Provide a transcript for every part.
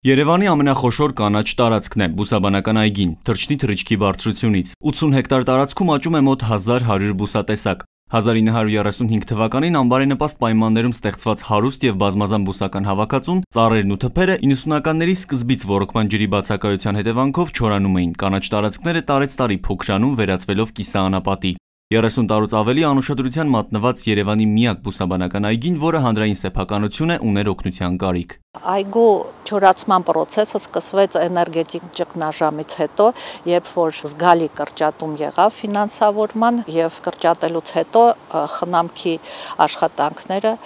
Երևանի ամենախոշոր կանաչ տարածքն է բուսաբանական այգին, թռչնի թռիչքի բարձրությունից։ 80 հեկտար տարածքում աճում է մոտ 1100 բուսատեսակ։ 1935 թվականին անբարենպաստ պայմաններում ստեղծված հարուստ եւ բազմազան բուսական հավաքածուն, ծառերն ու թփերը 90-ականների սկզբից ոռոգման ջրի բացակայության հետևանքով չորանում էին։ Կանաչ տարածքները տարեցտարի փոքրանում, վերածվելով կիսաանապատի։ 30 տարուց ավելի անուշադրության մատնված Երևանի միակ բուսաբանական այգին, որը հանրային սեփականություն է, ուներ օգնության կարիք։ Այգու չորացման process-ը սկսվեց էներգետիկ ճգնաժամից հետո, երբ որ զգալի կրճատում եղավ ֆինանսավորման եւ կրճատելուց հետո խնամքի աշխատանքները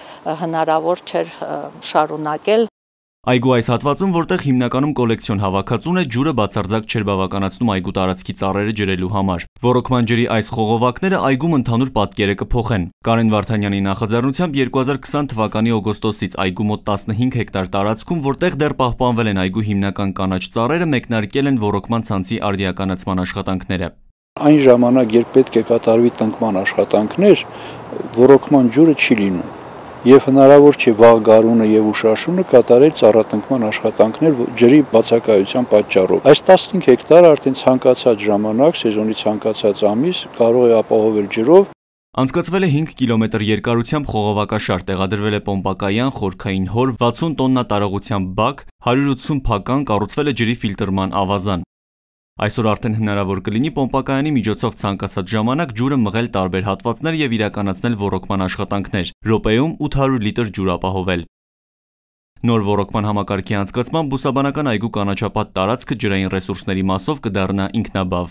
հնարավոր չէր շարունակել։ Այգու այս հատվածում, որտեղ հիմնականում կոլեկցիոն հավաքածուն է, ջուրը բացարձակ չէր բավականացնում այգու տարածքի ծառերը ջրելու համար։ Ոռոգման ջրի այս խողովակները այգում ընդհանուր պատկերը կփոխեն։ Կարեն Վարդանյանի նախաձեռնությամբ 2020 թվականի օգոստոսից այգու մոտ 15 հեկտար տարածքում, որտեղ դեռ պահպանվել են այգու հիմնական կանաչ ծառերը, մեկնարկել են ոռոգման ցանցի արդիականացման աշխատանքները։ Այն ժամանակ, երբ պետք է կատարվի տնկման աշխատանքներ, ոռոգման ջուրը չի լինում։ Եվ հնարավոր չէ վաղ գարունը եւ ուշաշունը կատարել ծառատնկման աշխատանքներ ջրի բացակայության պատճառով։ Այս 15 հեկտարը արդեն ցանկացած ժամանակ, սեզոնի ցանկացած ամիս կարող է ապահովել ջրով։ Անցկացվել է 5 կիլոմետր երկարությամբ խողովակաշար, տեղադրվել է պոմպակայան, խորքային հոր, 60 տոննա տարողությամբ բակ, 180 փական, կառուցվել է ջրի ֆիլտրման ավազան։ Այսօր արդեն հնարավոր կլինի պոմպակայանի միջոցով ցանկացած ժամանակ ջուրը մղել տարբեր հատվածներ եւ իրականացնել ոռոգման աշխատանքներ, րոպեում 800 լիտր ջուր ապահովել։ Նոր ոռոգման համակարգի անցկացման բուսաբանական այգու կանաչապատ տարածքը ջրային ռեսուրսների մասով կդառնա ինքնաբավ։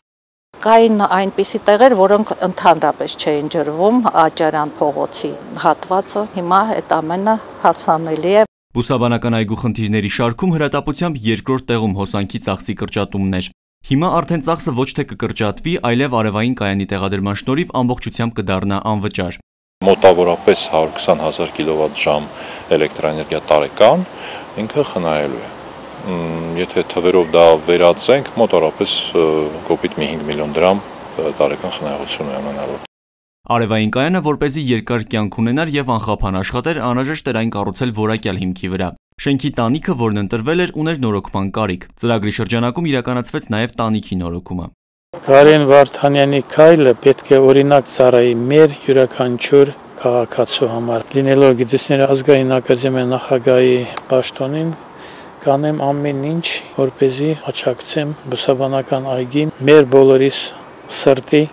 Կային այնպիսի տեղեր, որոնք ընդհանրապես չէին ջրվում, Աճարյան փողոցի հատվածը, հիմա այդ ամենը հասանելի է։ Բուսաբանական այգու խնդիրների շարքում հրատապությամբ երկրորդ տեղում հոսանքի ծախսի կրճատումն էր։ Հիմա արդեն ծախսը ոչ թե կկրճատվի, այլև արևային կայանի տեղադրման շնորհիվ ամբողջությամբ կդառնա անվճար։ Մոտավորապես 120,000 կիլովատ-ժամ էլեկտրաէներգիա տարեկան ինքը խնայելու է։ Եթե թվերով դա վերածենք, մոտավորապես կոպիտ 5 միլիոն դրամ տարեկան խնայողություն է ունենալու։ Արևային կայանը, որպեսզի երկար կյանք ունենար եւ անխափան աշխատեր, անհրաժեշտ էր այն կառուցել որակյալ հիմքի վրա։ Շենքի տանիքը, որն ընտրվել էր, ուներ նորոգման կարիք։ Ծրագրի շրջանակում իրականացվեց նաեւ տանիքի նորոգումը։ Կարեն Վարդանյանի քայլը պետք է օրինակ ծառայի մեր յուրաքանչյուր քաղաքացու համար։ Լինելով Գիտությունների ազգային ակադեմիայի նախագահի պաշտոնին, կանեմ ամեն ինչ, որպեսզի աջակցեմ բուսաբանական այգին մեր բոլորիս սրտի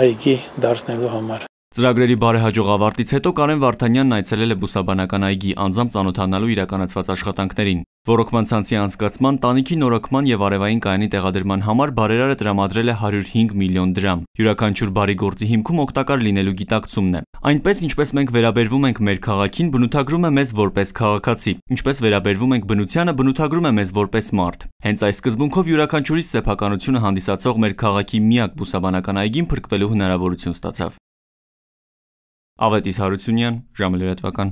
այգի դարձնելու համար։ Ծրագրերի բարեհաջող ավարտից հետո Կարեն Վարդանյանն այցելել է բուսաբանական այգի, անձամբ ծանոթանալու իրականացված աշխատանքներին։ Ոռոգման ցանցի անցկացման, տանիքի նորոգման եւ արևային կայանի տեղադրման համար բարերարը տրամադրել է 105 միլիոն դրամ։ Յուրաքանչյուր բարի գործի հիմքում օգտակար լինելու գիտակցումն է։ Այնպես, ինչպես մենք վերաբերվում ենք մեր քաղաքին, բնութագրում է մեզ որպես քաղաքացի, ինչպես վերաբերվում ենք բնությանը, բնութագրում է մեզ որպես մարդ։ Հենց այս սկզբունքով յուրաքանչյուրի սեփականությունը հանդիսացող մեր քաղաքի միակ բուսաբանական այգին փրկվելու հնարավորություն ստացավ։ Ավետիս Հարությունյան, ժամը լրատվական։